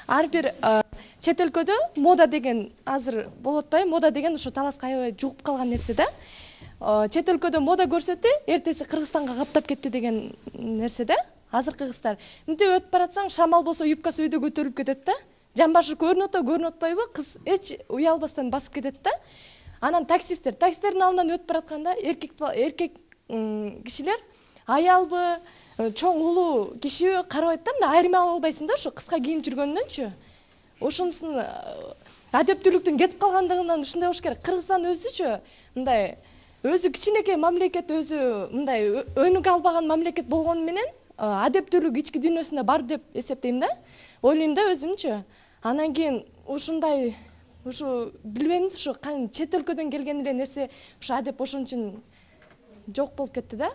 ар бир чет өлкөдө мода деген азыр болуп атпайбы? Мода деген ушу таласка аябай жугуп калган нерсе да. Чет өлкөдө мода көрсөтү, эртеси Кыргызстанга каптап кетти деген нерсе да. Азыркы кыздар мынтип өтүп баратсаң, шамал болсо юбкасы үйдө көтөрүлүп кетет да. Жамбашы көрүнүп атпайбы? Кыз эч уялбастан басып кетет да. Анан таксистердин алдынан өтүп баратканда эркек кишилер аялбы, чоң улуу кишиби карабайт да, мындай айырмай албайсың да, ушу кыска кийинип жүргөндөнчү. Ошонусун адептүүлүктүн кетип калгандыгынан ушундай болуш керек. Кыргызстан өзүчү мындай өзү кичинекей мамлекет, өзү мындай өнүгө албаган мамлекет болгону менен адептүүлүк ички дүйнөсүндө бар деп эсептейм да. Ойлойм да өзүмчү. Анан кийин ушундай билбейм, ушу чет өлкөдөн келген эле нерсе ушу адеп ошон үчүн жок болуп кетти да.